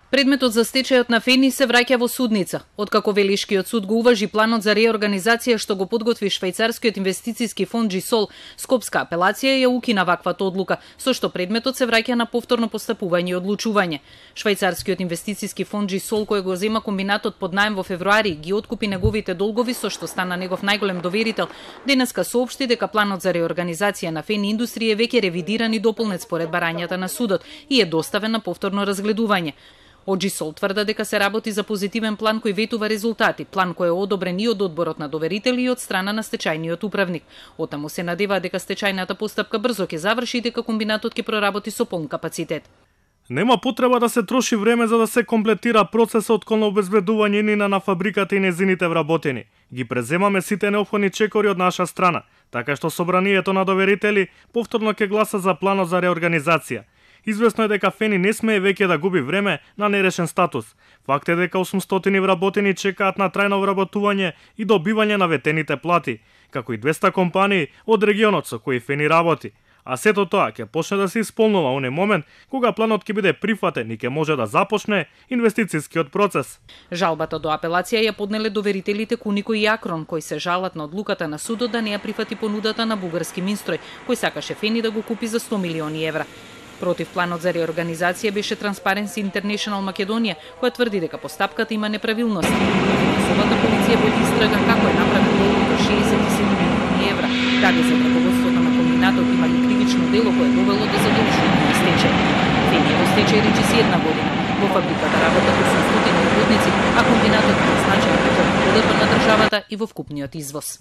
Предметот за стечајот на Фени се враќа во судница. Откако Велишкиот суд го уважи планот за реорганизација што го подготви швајцарскиот инвестициски фонд Джисол, Скопска апелација ја укина ваквата одлука, со што предметот се враќа на повторно постапување и одлучување. Швајцарскиот инвестициски фонд Джисол, кој го зема комбинатот под наем во февруари, ги откупи неговите долгови, со што стана негов најголем доверител, денеска соопшти дека планот за реорганизација на Фени индустрија е веќе ревидиран и дополнет според барањата на судот и е доставен на повторно разгледување. Од Джисол тврда дека се работи за позитивен план кој ветува резултати, план кој е одобрен и од одборот на доверители и од страна на стечајниот управник. Отаму се надева дека стечајната постапка брзо ќе заврши и дека комбинатот ќе проработи со полн капацитет. Нема потреба да се троши време за да се комплетира процесот кон обезбедување инина на фабриката и незините вработени. Ги преземаме сите неопходни чекори од наша страна, така што собранието на доверители повторно ќе гласа за планот за реорганизација. Известно е дека Фени не смее веќе да губи време на нерешен статус. Факт е дека 800 вработени чекаат на трајно вработување и добивање на ветените плати, како и 200 компании од регионот со кои Фени работи. А сето тоа ќе почне да се исполнува оне момент кога планот ќе биде прифатен и ќе може да започне инвестицискиот процес. Жалбата до апелација ја поднеле доверителите Кунико и Акрон, кои се жалат на одлуката на судот да не ја прифати понудата на бугарски Минстрој, кој сакаше Фени да го купи за 100 милиони евра. Против планот за реорганизација беше Transparency International Македонија, која тврди дека постапката има неправилности. Финансовата полиција води истрага како е направен долг до 67 милиони евра. Даде за раководството на комбинатот имали кривично дело кое довело до задолжување на стечај. Фени е во стечај речиси 1 година. Во фабриката работат 800 работници, а комбинатот е значаен приход на државата и во вкупниот извоз.